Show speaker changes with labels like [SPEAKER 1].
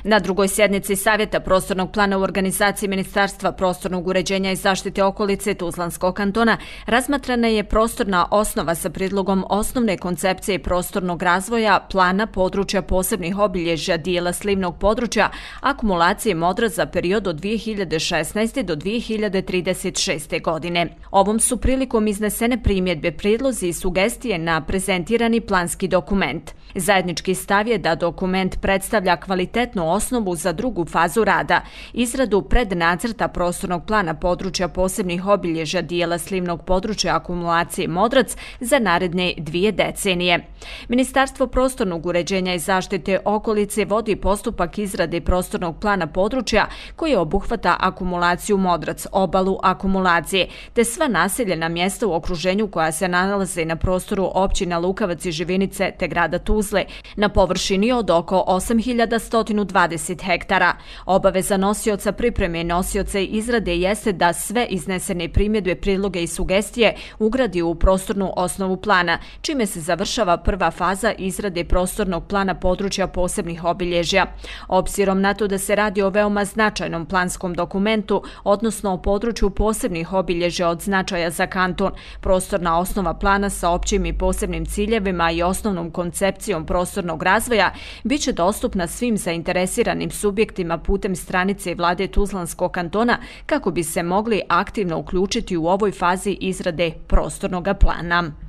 [SPEAKER 1] Na drugoj sjednici Savjeta prostornog plana u organizaciji Ministarstva prostornog uređenja i zaštite okolice Tuzlanskog kantona razmatrana je prostorna osnova sa prijedlogom osnovne koncepcije prostornog razvoja, plana područja posebnih obilježja dijela slivnog područja, akumulacije modra za period od 2016. do 2036. godine. Ovom su prilikom iznesene primjedbe, prijedlozi i sugestije na prezentirani planski dokument. Zajednički stav je da dokument predstavlja kvalitetnu osnovu za drugu fazu rada, izradu prednacrta prostornog plana područja posebnih obilježja dijela slivnog područja akumulacije Modrac za naredne 2 decenije. Ministarstvo prostornog uređenja i zaštite okolice vodi postupak izrade prostornog plana područja koji obuhvata akumulaciju Modrac, obalu akumulacije, te sva naseljena mjesta u okruženju koja se nalaze na prostoru općina Lukavac i Živinice te grada Tuzle, na površini od oko 8120 hektara. Obaveza nosioca pripreme i nosioca izrade jeste da sve iznesene primjedbe, prijedloge i sugestije ugradi u prostornu osnovu plana, čime se završava prva faza izrade prostornog plana područja posebnih obilježja. Obzirom na to da se radi o veoma značajnom planskom dokumentu, odnosno o području posebnih obilježja od značaja za kanton, prostorna osnova plana sa općim i posebnim ciljevima i osnovnom koncepcijom prostornog razvoja biće dostupna svim zainteresiranim subjektima putem stranice Vlade Tuzlanskog kantona kako bi se mogli aktivno uključiti u ovoj fazi izrade prostornog plana.